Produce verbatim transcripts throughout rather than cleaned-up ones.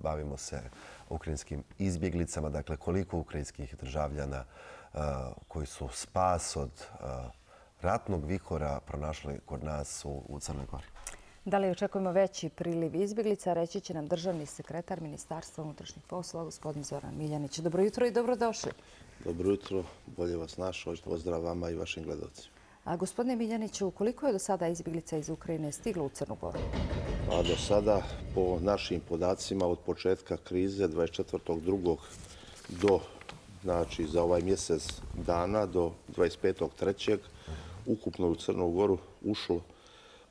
bavimo se ukrajinskim izbjeglicama. Dakle, koliko ukrajinskih državljana koji su spas od ratnog vihora pronašli kod nas u Crnoj Gori? Da li očekujemo veći priliv izbjeglica? Reći će nam državni sekretar Ministarstva unutrašnjih poslova, gospodin Zoran Miljanić. Dobro jutro i dobrodošli. Dobro jutro, bolje vas našao. Pozdrav vama i vašim gledalcima. A gospodine Miljaniću, koliko je do sada izbjeglica iz Ukrajine stiglo u Crnu Goru? A do sada, po našim podacima, od početka krize dvadeset četvrtog drugog do, znači za ovaj mjesec dana, do dvadeset petog trećeg ukupno u Crnu Goru ušlo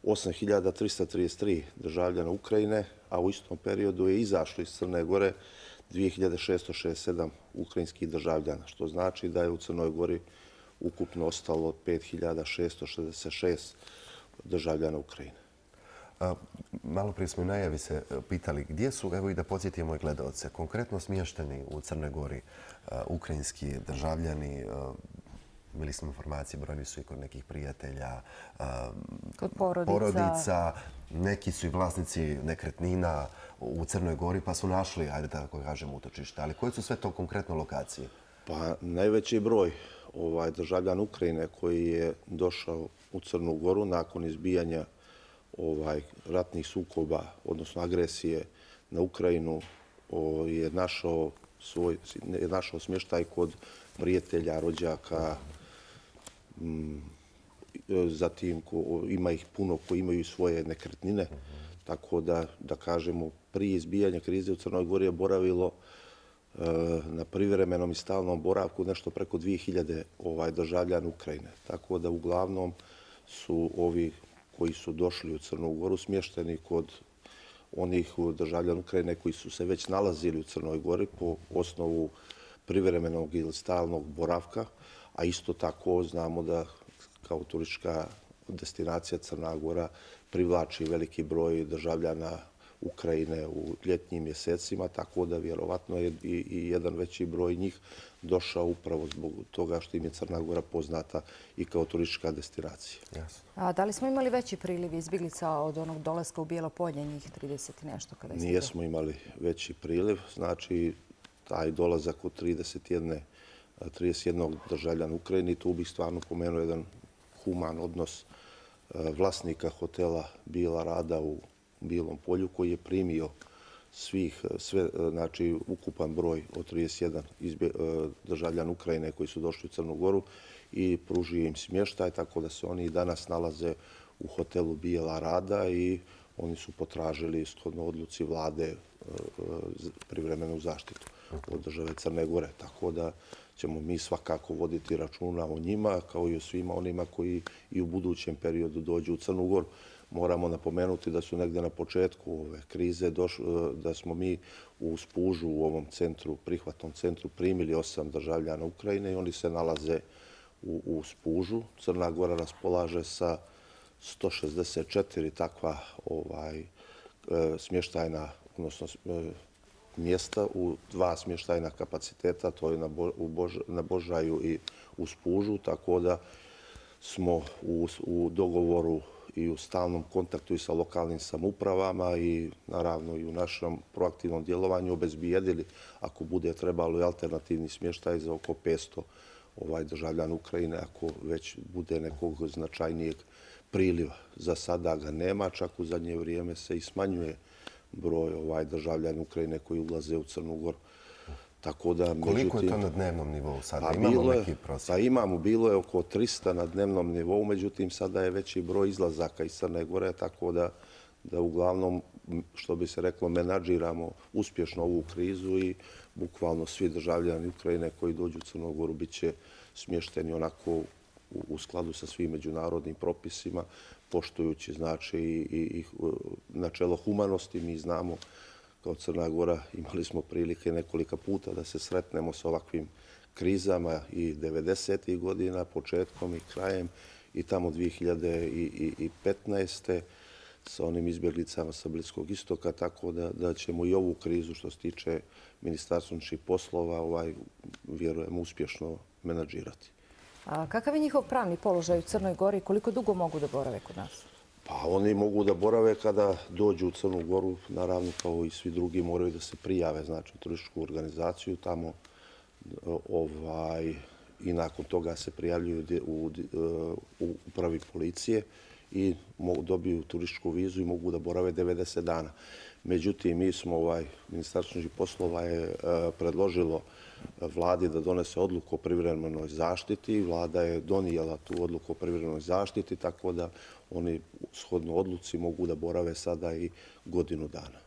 osam hiljada trista trideset tri državljana Ukrajine, a u istom periodu je izašlo iz Crne Gore dvije hiljade šesto šezdeset sedam ukrajinskih državljana, što znači da je u Crnoj Gori ukupno ostalo pet hiljada šesto šezdeset šest državljana Ukrajine. Malo prije smo u najavi se pitali gdje su, evo i da podsjetimo i gledalce, konkretno smješteni u Crnoj Gori ukrajinski državljani. Imali smo informacije, brojni su i kod nekih prijatelja, kod porodica. porodica. Neki su i vlasnici nekretnina u Crnoj Gori pa su našli, ajde tako kažem, utočište. Ali koje su sve to konkretno lokacije? Pa najveći broj ovaj, državljana Ukrajine koji je došao u Crnu Goru nakon izbijanja ovaj, ratnih sukoba, odnosno agresije na Ukrajinu, o, je našao, svoj, je našao smještaj kod prijatelja, rođaka. M, zatim ko, ima ih puno koji imaju svoje nekretnine. Tako da, da kažemo, prije izbijanja krize u Crnoj Gori je boravilo na privremenom i stalnom boravku nešto preko dvije hiljade ovaj, državljana Ukrajine. Tako da uglavnom su ovi koji su došli u Crnu Goru smješteni kod onih državljana Ukrajine koji su se već nalazili u Crnoj Gori po osnovu privremenog ili stalnog boravka, a isto tako znamo da kao turistička destinacija Crna Gora privlači veliki broj državljana Ukrajine u ljetnjim mjesecima, tako da vjerovatno je i jedan veći broj njih došao upravo zbog toga što im je Crna Gora poznata i kao turistička destinacija. A da li smo imali veći priliv izbjeglica od onog dolaska u Bijelo polje, njih trideset i nešto? Kada Nijesmo imali veći priliv, znači taj dolazak od trideset jednog državljana Ukrajine, tu bih stvarno pomenuo jedan human odnos vlasnika hotela Bijela Rada u Bijelom polju koji je primio svih, sve, znači ukupan broj od trideset jedan izbje, državljana Ukrajine koji su došli u Crnu Goru i pružio im smještaj, tako da se oni i danas nalaze u hotelu Bijela Rada i oni su potražili shodno odluci vlade privremenu zaštitu od države Crne Gore. Tako da ćemo mi svakako voditi računa o njima kao i o svima onima koji i u budućem periodu dođu u Crnu Goru. Moramo napomenuti da su negdje na početku ove krize došli, da smo mi u Spužu u ovom centru, prihvatnom centru primili osam državljana Ukrajine i oni se nalaze u, u Spužu. Crna Gora raspolaže sa sto šezdeset četiri takva ovaj, smještajna, odnosno mjesta u dva smještajna kapaciteta, to je na, Bo, u Bož, na Božaju i u Spužu, tako da smo u, u dogovoru i u stalnom kontaktu i sa lokalnim samoupravama i naravno i u našem proaktivnom djelovanju obezbijedili, ako bude trebalo, i alternativni smještaj za oko petsto ovaj, državljana Ukrajine, ako već bude nekog značajnijeg priliva. Za sada ga nema, čak u zadnje vrijeme se i smanjuje broj ovaj, državljana Ukrajine koji ulaze u Crnu Goru. Tako da, koliko međutim, je to na dnevnom nivou sada? Pa imamo je, neki prosjek? Pa imamo, bilo je oko trista na dnevnom nivou, međutim sada je veći broj izlazaka iz Crne Gore, tako da, da uglavnom, što bi se reklo, menadžiramo uspješno ovu krizu i bukvalno svi državljani Ukrajine koji dođu u Crnu Goru bit će smješteni onako u, u skladu sa svim međunarodnim propisima, poštujući znači i, i, i načelo humanosti. Mi znamo kao Crna Gora, imali smo prilike nekolika puta da se sretnemo s ovakvim krizama i devedesetih godina, početkom i krajem, i tamo dvije hiljade petnaeste sa onim izbjeglicama sa Bliskog istoka, tako da, da ćemo i ovu krizu što se tiče Ministarstva unutrašnjih poslova, ovaj, vjerujem, uspješno menadžirati. A kakav je njihov pravni položaj u Crnoj Gori i koliko dugo mogu da borave kod nas? Pa oni mogu da borave kada dođu u Crnu Goru, naravno kao i svi drugi moraju da se prijave, znači u turističku organizaciju tamo ovaj, i nakon toga se prijavljuju u, u upravi policije i mogu, dobiju turističku vizu i mogu da borave devedeset dana. Međutim, mi smo, ovaj, Ministarstvo unutrašnjih poslova je predložilo vladi da donese odluku o privremenoj zaštiti. Vlada je donijela tu odluku o privremenoj zaštiti, tako da oni shodno odluci mogu da borave sada i godinu dana.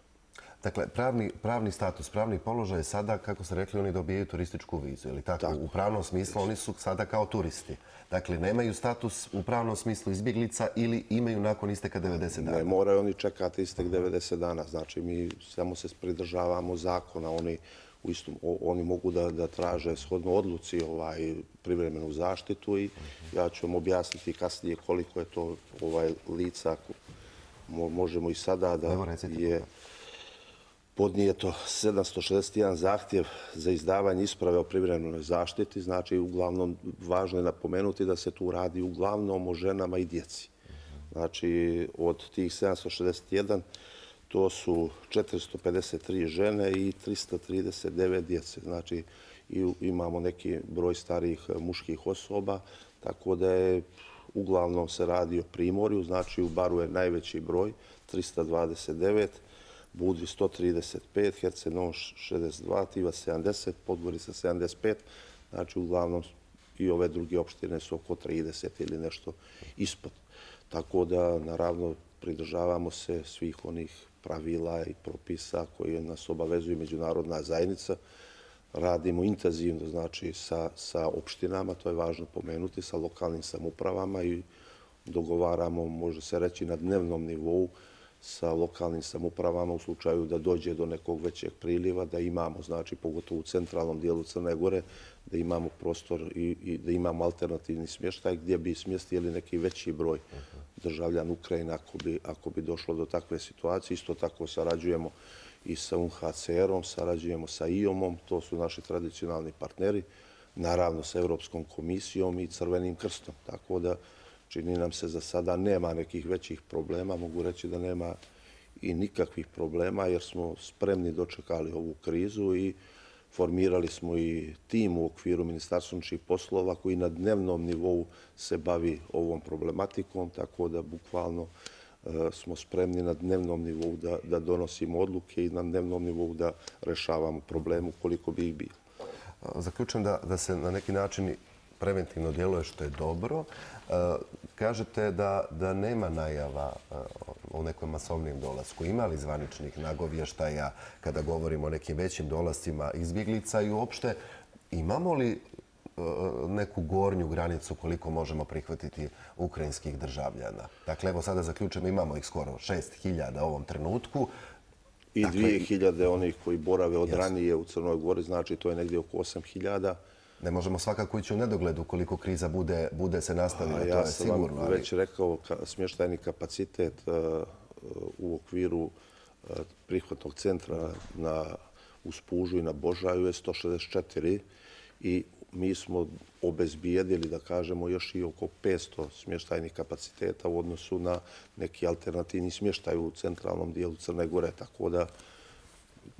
Dakle, pravni, pravni status, pravni položaj sada, kako ste rekli, oni dobijaju turističku vizu. Ili tako? tako? U pravnom smislu oni su sada kao turisti. Dakle, nemaju status u pravnom smislu izbjeglica ili imaju nakon isteka devedeset dana? Ne, moraju oni čekati istek devedeset dana. Znači, mi samo se pridržavamo zakona. Oni, u istom, oni mogu da, da traže shodno odluci ovaj, privremenu zaštitu i ja ću vam objasniti kasnije koliko je to ovaj, lica. Možemo i sada da je podnijeto sedamsto šezdeset jedan zahtjev za izdavanje isprave o privremenoj zaštiti. Znači, uglavnom, važno je napomenuti da se tu radi uglavnom o ženama i djeci. Znači, od tih sedamsto šezdeset jedan to su četiristo pedeset tri žene i trista trideset devet djece. Znači, imamo neki broj starijih muških osoba, tako da je uglavnom se radi o Primorju. Znači, u Baru je najveći broj, trista dvadeset devet, Budvi sto trideset pet, Herceg-Novi šezdeset dva, Tivac sedamdeset, Podgorica sedamdeset pet. Znači, uglavnom i ove druge opštine su oko trideset ili nešto ispod. Tako da, naravno, pridržavamo se svih onih pravila i propisa koji nas obavezuju međunarodna zajednica. Radimo intenzivno, znači, sa, sa opštinama, to je važno pomenuti, sa lokalnim samoupravama i dogovaramo, može se reći, na dnevnom nivou sa lokalnim samoupravama u slučaju da dođe do nekog većeg priliva, da imamo, znači, pogotovo u centralnom dijelu Crne Gore, da imamo prostor i, i da imamo alternativni smještaj gdje bi smjestili neki veći broj državljana Ukrajine ako bi, ako bi došlo do takve situacije. Isto tako sarađujemo i sa U N H C R-om, sarađujemo sa I O M-om, to su naši tradicionalni partneri, naravno sa Europskom komisijom i Crvenim krstom. Tako da čini nam se za sada nema nekih većih problema. Mogu reći da nema i nikakvih problema jer smo spremni dočekali ovu krizu i formirali smo i tim u okviru Ministarstva unutrašnjih poslova koji na dnevnom nivou se bavi ovom problematikom, tako da bukvalno smo spremni na dnevnom nivou da, da donosimo odluke i na dnevnom nivou da rešavamo problemu koliko bi ih bilo. Zaključujem da, da se na neki način preventivno djeluje što je dobro. Kažete da, da nema najava o nekom masovnim dolasku. Ima li zvaničnih nagovještaja kada govorimo o nekim većim dolascima izbjeglica i uopšte imamo li neku gornju granicu koliko možemo prihvatiti ukrajinskih državljana? Dakle, evo sada zaključujemo, imamo ih skoro šest hiljada u ovom trenutku. I dvije hiljade onih koji borave od ranije u Crnoj Gori, znači to je negdje oko osam hiljada. Ne možemo svakako ići u nedogled ukoliko kriza bude, bude se nastavila, to je sigurno. Ja sam vam već rekao, smještajni kapacitet u okviru prihvatnog centra na Uspužu i na Božaju je sto šezdeset četiri i mi smo obezbijedili, da kažemo, još i oko petsto smještajnih kapaciteta u odnosu na neki alternativni smještaj u centralnom dijelu Crne Gore, tako da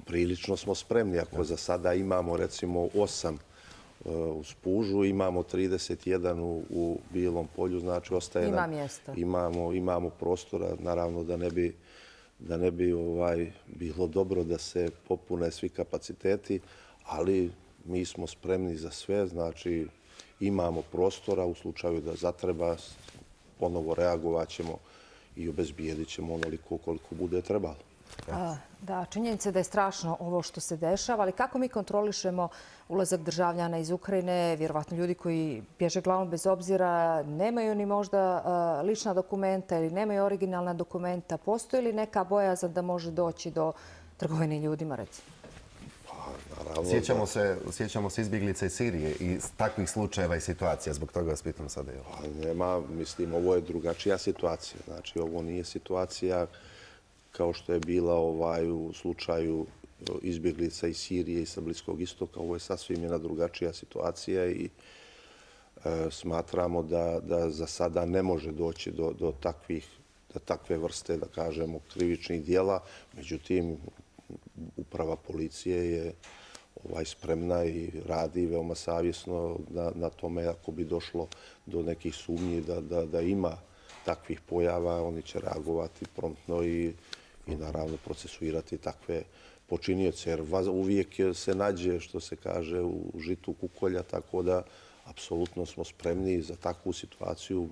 prilično smo spremni. Ako za sada imamo, recimo, osam u Spužu, imamo trideset jedan u, u Bijelom polju, znači ostaje Ima nam, mjesta. Imamo, imamo prostora, naravno da ne bi, da ne bi ovaj, bilo dobro da se popune svi kapaciteti, ali mi smo spremni za sve, znači imamo prostora u slučaju da zatreba, ponovo reagovat ćemo i obezbijedit ćemo onoliko koliko bude trebalo. Da, činjenica je da je strašno ovo što se dešava, ali kako mi kontrolišemo ulazak državljana iz Ukrajine, vjerovatno ljudi koji bježe glavom bez obzira, nemaju ni možda lična dokumenta ili nemaju originalna dokumenta. Postoji li neka bojazan da može doći do trgovine ljudima, recimo? Sjećamo se, sjećamo se izbjeglica iz Sirije i takvih slučajeva i situacija. Zbog toga vas pitam sada. Nema, mislim, ovo je drugačija situacija. Znači, ovo nije situacija kao što je bila ovaj, u slučaju izbjeglica iz Sirije i sa Bliskog istoka. Ovo je sasvim jedna drugačija situacija i e, smatramo da, da za sada ne može doći do, do takvih, takve vrste, da kažemo, krivičnih dijela. Međutim, uprava policije je ovaj, spremna i radi veoma savjesno na, na tome ako bi došlo do nekih sumnji da, da, da ima takvih pojava, oni će reagovati promptno i, i naravno procesuirati takve počinioce. Jer uvijek se nađe, što se kaže, u žitu kukolja, tako da apsolutno smo spremni za takvu situaciju.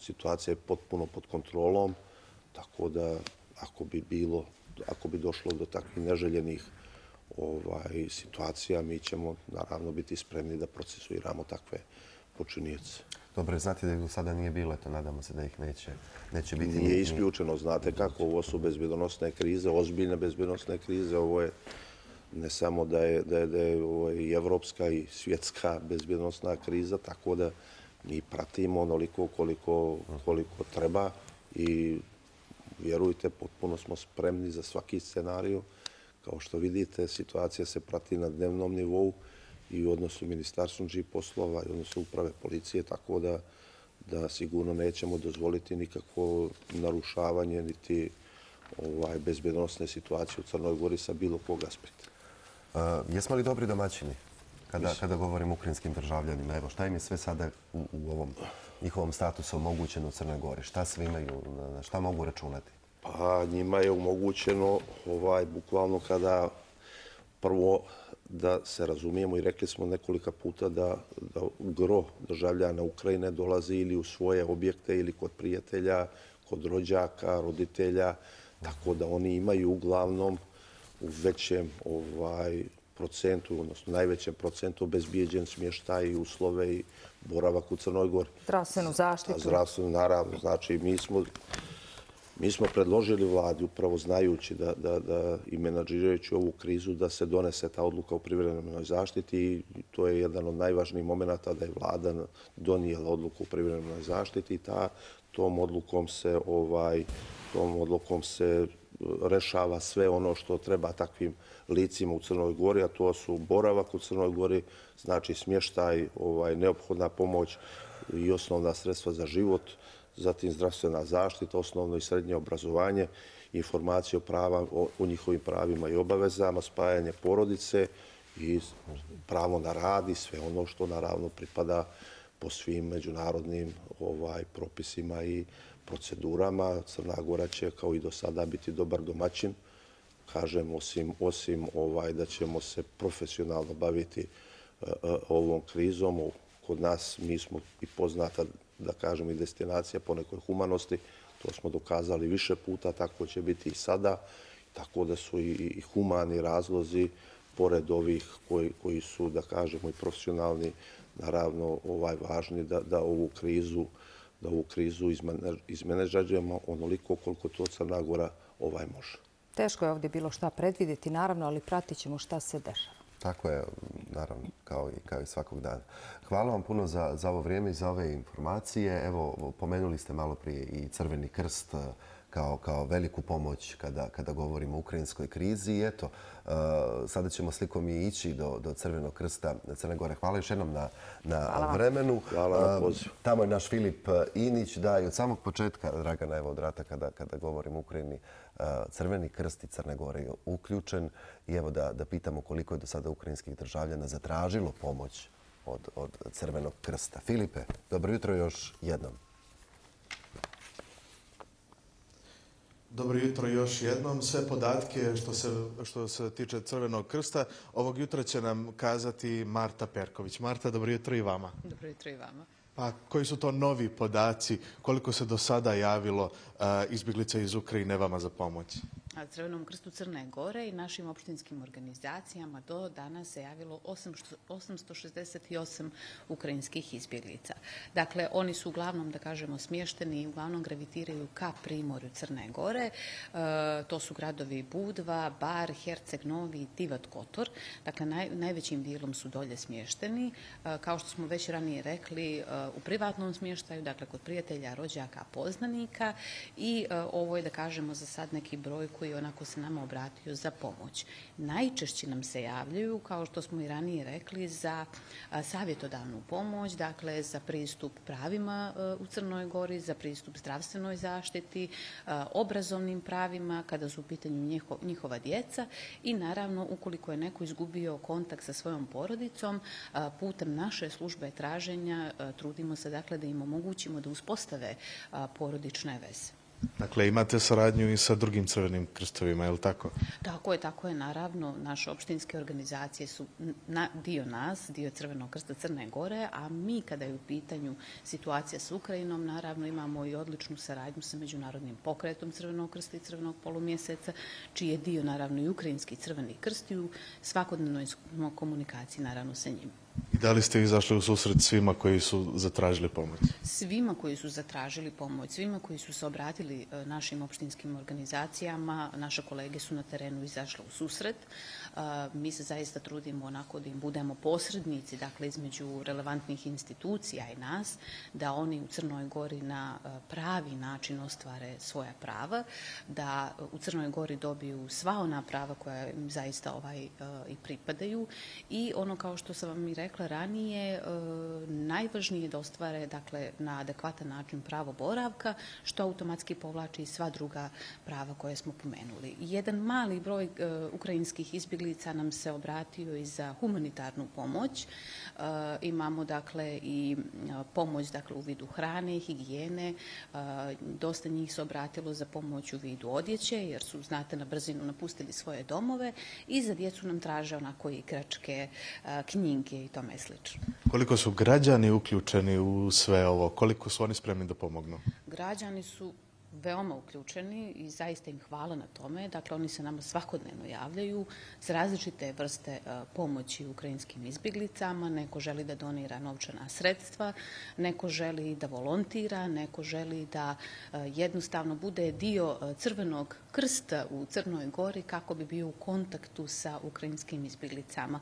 Situacija je potpuno pod kontrolom, tako da ako bi bilo, ako bi došlo do takvih neželjenih ovaj, situacija, mi ćemo naravno biti spremni da procesuiramo takve počinioce. Dobro, znate da ih do sada nije bilo, eto, nadamo se da ih neće, neće biti. Nije isključeno, znate kako, ovo su bezbjednosne krize, ozbiljne bezbjednosne krize, ovo je ne samo da je, da je, da je ovo i evropska i svjetska bezbjednosna kriza, tako da mi pratimo onoliko koliko, koliko treba i vjerujte, potpuno smo spremni za svaki scenariju. Kao što vidite, situacija se prati na dnevnom nivou i u odnosu Ministarstva unutrašnjih poslova i u odnosu uprave policije, tako da, da sigurno nećemo dozvoliti nikakvo narušavanje niti ovaj, bezbjednosne situacije u Crnoj Gori sa bilo kog aspekta. Uh, jesmo li dobri domaćini kada, kada govorimo o ukrajinskim državljanima? Evo, šta im je sve sada u, u ovom njihovom statusu omogućeno u Crnoj Gori? Šta sve imaju, na šta mogu računati? Pa njima je omogućeno, ovaj, bukvalno kada prvo da se razumijemo i rekli smo nekolika puta da, da gro državljana Ukrajine dolazi ili u svoje objekte ili kod prijatelja, kod rođaka, roditelja, tako da oni imaju uglavnom u većem ovaj, procentu, odnosno najvećem procentu obezbijeđen smještaj i uslove i boravak u Crnoj Gori. Zdravstvenu zaštitu. Zdravstvenu, naravno. Znači, mi smo, mi smo predložili vladi, upravo znajući da, da, da i menadžirajući ovu krizu, da se donese ta odluka o privremenoj zaštiti i to je jedan od najvažnijih momenata da je vlada donijela odluku o privremenoj zaštiti i ta, tom odlukom se ovaj, tom odlukom se rešava sve ono što treba takvim licima u Crnoj Gori, a to su boravak u Crnoj Gori, znači smještaj, ovaj, neophodna pomoć i osnovna sredstva za život, zatim zdravstvena zaštita, osnovno i srednje obrazovanje, informacije o, prava, o, o njihovim pravima i obavezama, spajanje porodice i pravo na rad i sve ono što naravno pripada po svim međunarodnim ovaj, propisima i procedurama. Crna Gora će kao i do sada biti dobar domaćin. Kažem, osim, osim ovaj, da ćemo se profesionalno baviti uh, ovom krizom. Kod nas mi smo i poznata, da kažem, i destinacija po nekoj humanosti. To smo dokazali više puta, tako će biti i sada. Tako da su i, i humani razlozi, pored ovih koji, koji su, da kažemo, i profesionalni, naravno ovaj, važni da, da ovu krizu da ovu krizu izmenadžujemo onoliko koliko to Crna Gora ovaj može. Teško je ovdje bilo šta predvidjeti, naravno, ali pratit ćemo šta se dešava. Tako je, naravno, kao i, kao i svakog dana. Hvala vam puno za, za ovo vrijeme i za ove informacije. Evo, pomenuli ste malo prije i Crveni krst kao, kao veliku pomoć kada, kada govorimo o ukrajinskoj krizi. I eto, uh, sada ćemo slikom i ići do, do Crvenog krsta Crne Gore. Hvala još jednom na, na vremenu. Hvala na pozivu. Uh, tamo je naš Filip Inić, da, i od samog početka, Dragana, evo od rata, kada, kada govorimo o Ukrajini, uh, Crveni krst i Crne Gore je uključen. I evo da, da pitamo koliko je do sada ukrajinskih državljana zatražilo pomoć od, od Crvenog krsta. Filipe, dobro jutro još jednom. Dobro jutro još jednom. Sve podatke što se, što se tiče Crvenog krsta ovog jutra će nam kazati Marta Perković. Marta, dobro jutro i vama. Dobro jutro i vama. Pa koji su to novi podaci? Koliko se do sada javilo uh, izbjeglica iz Ukrajine vama za pomoć? Crvenom krstu Crne Gore i našim opštinskim organizacijama do danas se javilo osamsto šezdeset osam ukrajinskih izbjeglica. Dakle, oni su uglavnom, da kažemo, smješteni i uglavnom gravitiraju ka primorju Crne Gore. E, to su gradovi Budva, Bar, Herceg Novi i Tivat Kotor. Dakle, naj, najvećim dijelom su dolje smješteni. E, kao što smo već ranije rekli, e, u privatnom smještaju, dakle, kod prijatelja, rođaka, poznanika i e, ovo je, da kažemo, za sad neki broj koji koji onako se nama obratio za pomoć. Najčešće nam se javljaju, kao što smo i ranije rekli, za savjetodavnu pomoć, dakle za pristup pravima u Crnoj Gori, za pristup zdravstvenoj zaštiti, obrazovnim pravima, kada su u pitanju njihova djeca i naravno ukoliko je neko izgubio kontakt sa svojom porodicom, putem naše službe traženja trudimo se dakle da im omogućimo da uspostave porodične veze. Dakle, imate saradnju i sa drugim crvenim krstovima, je li tako? Tako je, tako je, naravno. Naše opštinske organizacije su dio nas, dio Crvenog krsta Crne Gore, a mi kada je u pitanju situacija s Ukrajinom, naravno imamo i odličnu saradnju sa Međunarodnim pokretom Crvenog krsta i Crvenog polumjeseca, čiji je dio naravno i Ukrajinski Crveni krst i u svakodnevnoj komunikaciji naravno sa njim. I da li ste izašli u susret svima koji su zatražili pomoć? Svima koji su zatražili pomoć, svima koji su se obratili našim opštinskim organizacijama, naše kolege su na terenu izašle u susret. Mi se zaista trudimo onako da im budemo posrednici, dakle između relevantnih institucija i nas, da oni u Crnoj Gori na pravi način ostvare svoja prava, da u Crnoj Gori dobiju sva ona prava koja im zaista ovaj i pripadaju i ono kao što sam vam i rekla, rekla ranije, najvažnije je da ostvare dakle, na adekvatan način pravo boravka, što automatski povlači i sva druga prava koje smo pomenuli. Jedan mali broj ukrajinskih izbjeglica nam se obratio i za humanitarnu pomoć. Imamo dakle i pomoć dakle, u vidu hrane, higijene. Dosta njih se obratilo za pomoć u vidu odjeće, jer su, znate, na brzinu napustili svoje domove i za djecu nam traže onako igračke, knjige i tome slično. Koliko su građani uključeni u sve ovo? Koliko su oni spremni da pomognu? Građani su veoma uključeni i zaista im hvala na tome. Dakle, oni se nama svakodnevno javljaju s različite vrste pomoći ukrajinskim izbjeglicama. Neko želi da donira novčana sredstva, neko želi da volontira, neko želi da jednostavno bude dio Crvenog krsta u Crnoj Gori kako bi bio u kontaktu sa ukrajinskim izbjeglicama.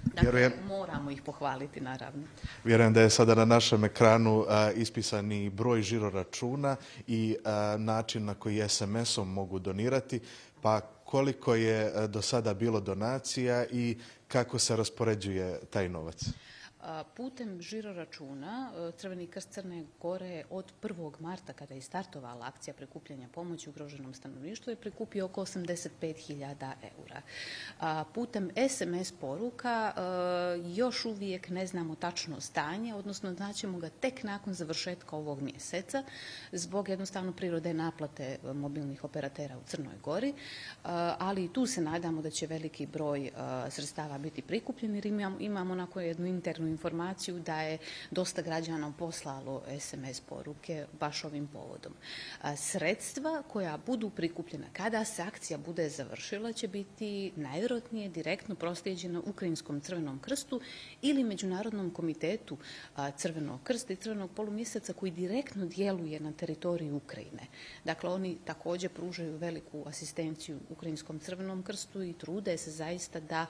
Dakle, moramo ih pohvaliti, naravno. Vjerujem da je sada na našem ekranu ispisani broj žiroračuna i način na koji es em esom mogu donirati, pa koliko je do sada bilo donacija i kako se raspoređuje taj novac? Putem žiroračuna Crveni krst Crne Gore od prvog marta, kada je startovala akcija prikupljanja pomoći ugroženom stanovništvu, je prikupio oko osamdeset pet hiljada eura. Putem es em es poruka još uvijek ne znamo tačno stanje, odnosno znaćemo ga tek nakon završetka ovog mjeseca, zbog jednostavno prirode naplate mobilnih operatera u Crnoj Gori, ali i tu se nadamo da će veliki broj sredstava biti prikupljen, jer imamo onako jednu internu informaciju da je dosta građana poslalo es em es poruke baš ovim povodom. Sredstva koja budu prikupljena kada se akcija bude završila će biti najvjerojatnije direktno proslijeđena Ukrajinskom Crvenom krstu ili Međunarodnom komitetu Crvenog krsta i Crvenog polumjeseca koji direktno djeluje na teritoriju Ukrajine. Dakle, oni također pružaju veliku asistenciju Ukrajinskom Crvenom krstu i trude se zaista da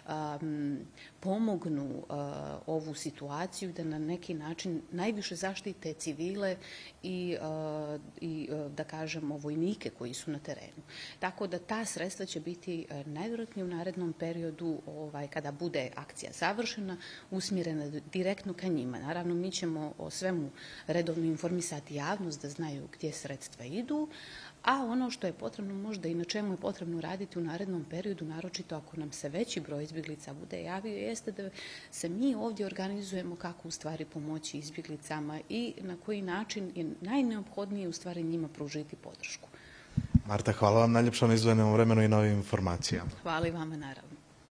um, pomognu uh, ovu situaciju, da na neki način najviše zaštite civile i, uh, i uh, da kažemo, vojnike koji su na terenu. Tako da ta sredstva će biti uh, najvjerojatnije u narednom periodu, ovaj, kada bude akcija završena, usmjerena direktno ka njima. Naravno, mi ćemo o svemu redovno informisati javnost da znaju gdje sredstva idu, a ono što je potrebno možda i na čemu je potrebno raditi u narednom periodu, naročito ako nam se veći broj izbjeglica bude javio, jeste da se mi ovdje organizujemo kako u stvari pomoći izbjeglicama i na koji način je najneophodnije u stvari njima pružiti podršku. Marta, hvala vam najljepša na izdvojenom vremenu i novim informacijama. Hvala i vama, naravno.